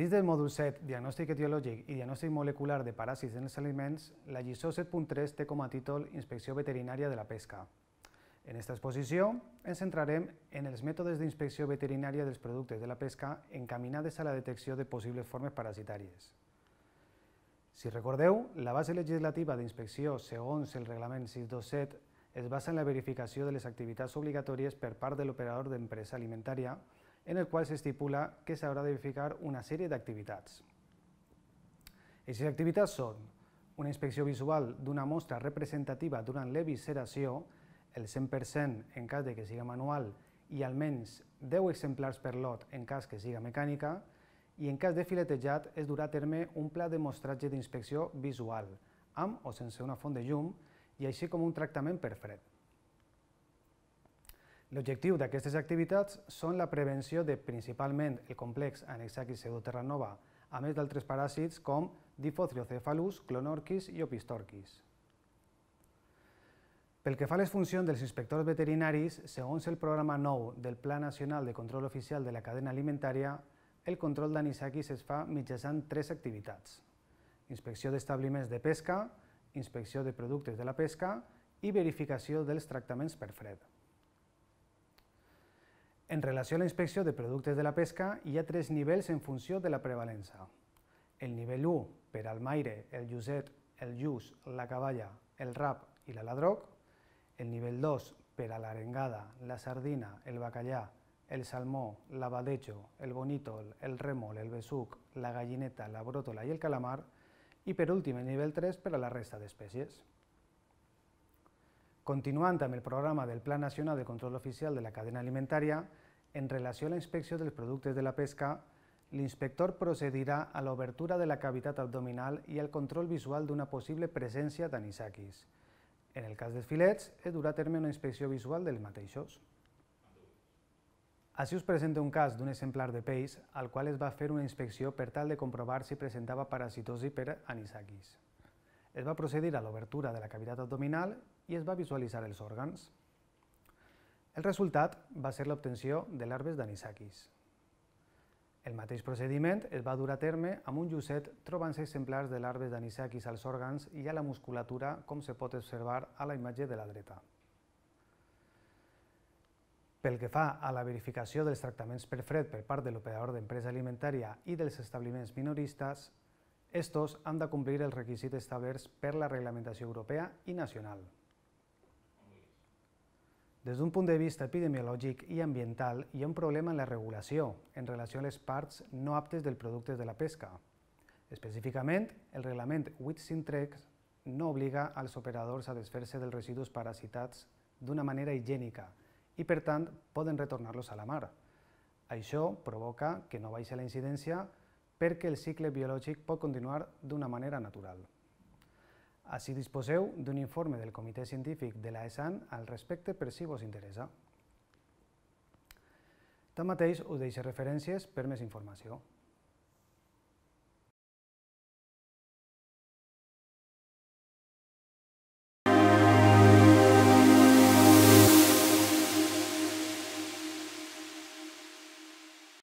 Dins del mòdul 7, diagnòstic etiològic i diagnòstic molecular de paràsits en els aliments, la lliçó 7.3 té com a títol Inspecció veterinària de la pesca. En aquesta exposició ens centrarem en els mètodes d'inspecció veterinària dels productes de la pesca encaminades a la detecció de possibles formes parasitàries. Si recordeu, la base legislativa d'inspecció segons el reglament 627 es basa en la verificació de les activitats obligatòries per part de l'operador d'empresa alimentària, en el qual s'estipula que s'haurà de verificar una sèrie d'activitats. Aquestes activitats són una inspecció visual d'una mostra representativa durant l'evisceració, el 100% en cas que siga manual i almenys 10 exemplars per lot en cas que siga mecànica, i en cas de filetejat es durà a terme un pla de mostratge d'inspecció visual, amb o sense una font de llum, i així com un tractament per fred. L'objectiu d'aquestes activitats són la prevenció de principalment el complex Anisakis pseudoterranova, a més d'altres paràsits com Diphothriocephalus, Clonorchis i Opistorchis. Pel que fa a les funcions dels inspectors veterinaris, segons el programa 9 del Pla Nacional de Control Oficial de la Cadena Alimentària, el control d'anisakis es fa mitjançant 3 activitats: inspecció d'establiments de pesca, inspecció de productes de la pesca i verificació dels tractaments per fred. En relació a la inspecció de productes de la pesca, hi ha 3 nivells en funció de la prevalença. El nivell 1 per al maire, el lluset, el lluç, la caballa, el rap i l'aladroc. El nivell 2 per a l'arengada, la sardina, el bacallà, el salmó, l'abadejo, el bonítol, el rèmol, el besuc, la gallineta, la bròtola i el calamar. I per últim, el nivell 3 per a la resta d'espècies. Continuant amb el programa del Pla Nacional de Control Oficial de la Cadena Alimentària, en relació a la inspecció dels productes de la pesca, l'inspector procedirà a l'obertura de la cavitat abdominal i al control visual d'una possible presència d'anisakis. En el cas dels filets, es durà a terme una inspecció visual dels mateixos. Així us presento un cas d'un exemplar de peix al qual es va fer una inspecció per tal de comprovar si presentava parasitosi per anisakis. Es va procedir a l'obertura de la cavitat abdominal i es va visualitzar els òrgans. El resultat va ser l'obtenció de larves d'anisakis. El mateix procediment es va dur a terme amb un llucet trobant-se exemplars de larves d'anisakis als òrgans i a la musculatura, com se pot observar a la imatge de la dreta. Pel que fa a la verificació dels tractaments per fred per part de l'operador d'empresa alimentària i dels establiments minoristes, estos han de complir els requisits establerts per la reglamentació europea i nacional. Des d'un punt de vista epidemiològic i ambiental, hi ha un problema en la regulació en relació a les parts no aptes dels productes de la pesca. Específicament, el reglament 853 no obliga als operadors a desfer-se dels residus parasitats d'una manera higiènica i, per tant, poden retornar-los a la mar. Això provoca que no baixi la incidència perquè el cicle biològic pot continuar d'una manera natural. Així disposeu d'un informe del Comitè Científic de l'AESAN al respecte per si vos interessa. Tanmateix, us deixo referències per més informació.